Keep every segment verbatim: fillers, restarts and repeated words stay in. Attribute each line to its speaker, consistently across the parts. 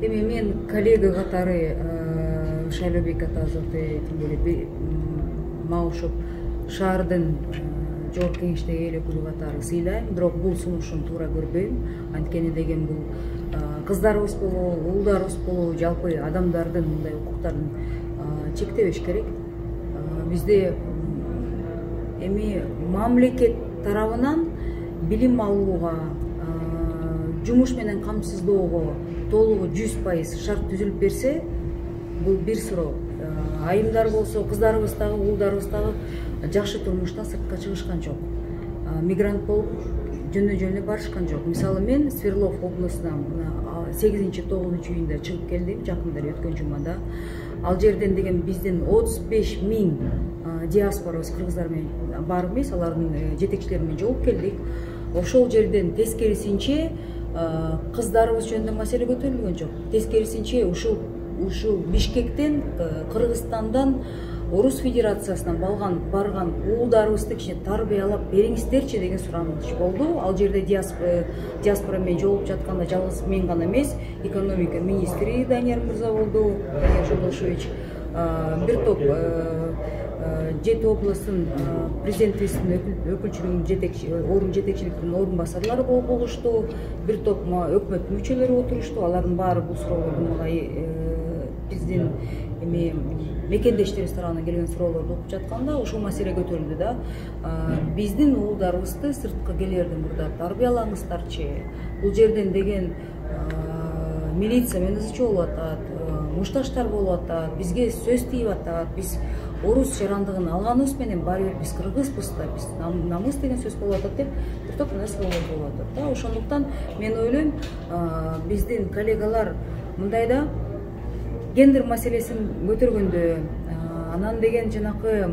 Speaker 1: Эми мен коллега катары Шайлообек Атазовду тим более мага окшоп шаардын жогорку кеңештеги эл өкүлү катары сыйлайм, бирок бул сунушун туура көрбөйм. Анткени деген бул кыздарыбыз болобу, уулдарыбыз болобу, жалпы адамдардын мындай укуктарын чектебеш керек. Бизде эми мамлекет тарабынан билим алууга, жумуш менен камсыздоого толугу жүз пайыз шарт түзүлүп берсе, бул бир суроо. Айымдар болсо, кыздарыбыз дагы, уулдарыбыз дагы жакшы турмуштан сыртка чыгышкан жок. Мигрант болуп жөнө-жөнү барышкан жок. Мисалы мен Свердлов областынан сегизинчи тогузунчу июнда чыгып келдим, жакында өткөн жумада. Ал жерден деген биздин отуз беш миң диаспорабыз кыргыздар менен бар эмес, алардын жетекчилери менен жолугуп келдик. Ошол жерден тескерисинче кыздарыбыз жөнүндө маселе көтөрүлгөн жок. Тескерисинче ушул ушул Бишкектен, Кыргызстандан, Орус Федерациясынан балган барган уулдарыбызды кичине тарбиялап бериңиздерчи деген сураныч болду. Ал жерде диаспора менен жолугуп жатканда жалгыз мен гана эмес, экономика министри Данияр Мырза болду, Данияр Жолдошевич, бир топ жети областын президенттигинин өкүлчүлүгүнүн жетекчи орун жетекчиликтин орун басарлары болуп болушту, бир топ өкмөт мүчөлөрү отурушту. Алардын баары бул суроолорду биздин эми мекендештерибиз тарабынан келген суроолорду окуп жатканда ушул маселе көтөрүлдү да. Биздин уулдарыбызды сырткы келерден мурда тарбиялаңыздарчы. Бул жерден деген милиция менен ызы чуу болуп атат, мушташтар болуп атат, бизге сөз тийип атат. Биз орус жарандыгын алганыбыз менен баары бир биз кыргызбыз да, биз намыс деген сөз болуп атат деп бир топ нерселер болуп атат да. Ошондуктан мен ойлойм, биздин коллегалар мындайда гендер маселесин көтөргөндө, анан деген жанакы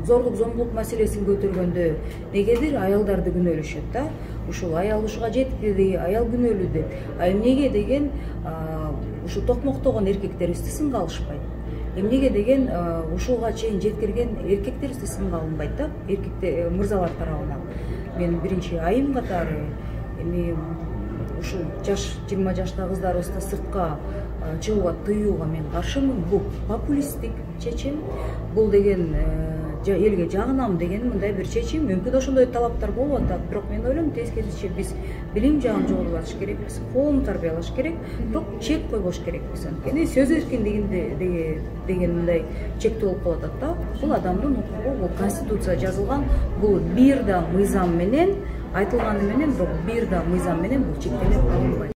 Speaker 1: зорлук зомбулук маселесин көтөргөндө негедир аялдарды күнөөлөшөт да. Ушул аял ушуга жетти, аял күнөөлүү деп. А эмнеге деген ушу токмоктогон эркектерибизди сынга алышпайт? Эмнеге деген ушуга чейин жеткирген эркектерибизди сынга алынбайт да, эркектер мырзалар тарабынан. Мен биринчи айым катары эми ушул жаш жыйырма жаштагы кыздарыбызды сыртка чыгууга тыюуга мен каршымын. Бул популисттик чечим. Бул деген элге жагынам деген мындай бир чечим. Мүмкүн ошондой талаптар болуп атат, бирок мен ойлойм тескерисинче биз билим жагын жогорулатыш керекпиз, коомду тарбиялаш керек, бирок чек койбош керекпиз. Анткени сөз эркиндигинде деген мындай чектөө болуп калып атат да. Бул адамдын укугу, бул конституция жазылган, бул бир да мыйзам менен айтылганы менен, бирок бир да мыйзам менен бул чектелип алынбайт.